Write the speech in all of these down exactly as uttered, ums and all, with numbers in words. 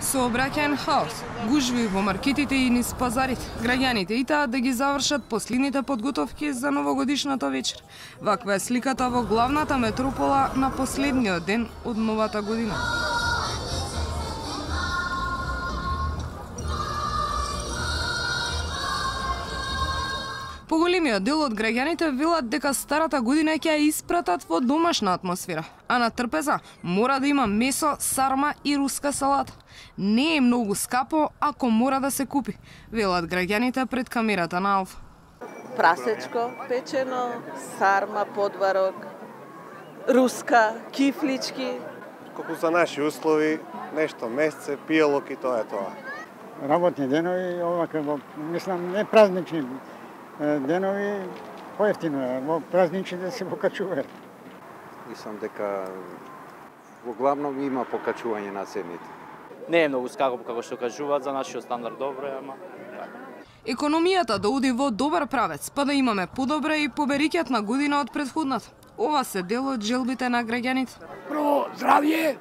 Сообраќаен хаос, гужви во маркетите и низ пазарите. Граѓаните итаа да ги завршат последните подготовки за новогодишната вечер. Ваква е сликата во главната метропола на последниот ден од новата година. Поголемиот дел од граѓаните велат дека старата година ќе ја испратат во домашна атмосфера, а на трпеза мора да има месо, сарма и руска салата. Не е многу скапо ако мора да се купи, велат граѓаните пред камерата на Алфа. Прасечко печено, сарма, подварок, руска, кифлички. Колку за наши услови, нешто месце, пијалок и тоа е тоа. Работни денови, овака, мислам, не празнични денови, поевтино е, во празниците се покачуваат. Мислам дека во главном има покачување на цените. Не е многу скапо како што кажуваат, за нашиот стандард добро е, ама економијата да оди во добар правец, па да имаме подобра и поберикјатна година од претходната. Ова се дел од желбите на граѓаните. Прво здравје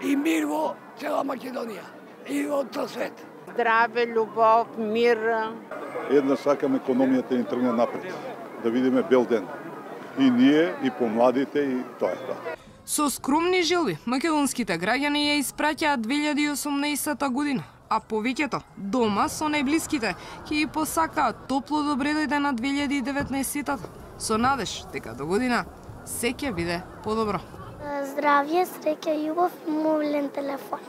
и мир во цела Македонија и во цел свет. Здраве, љубов, мир. Една сакам економијата да ни тргне напред, да видиме бел ден. И ние, и помладите, и тоа е тоа. Со скромни желби, македонските граѓани ја испраќаат две илјади и осумнаесета година, а повеќето дома со најблиските ќе ги посакаат топло добре дојде на две илјади и деветнаесета со надеж дека до година се ќе биде подобро. Здравје, среќа, љубов и мобилен телефон.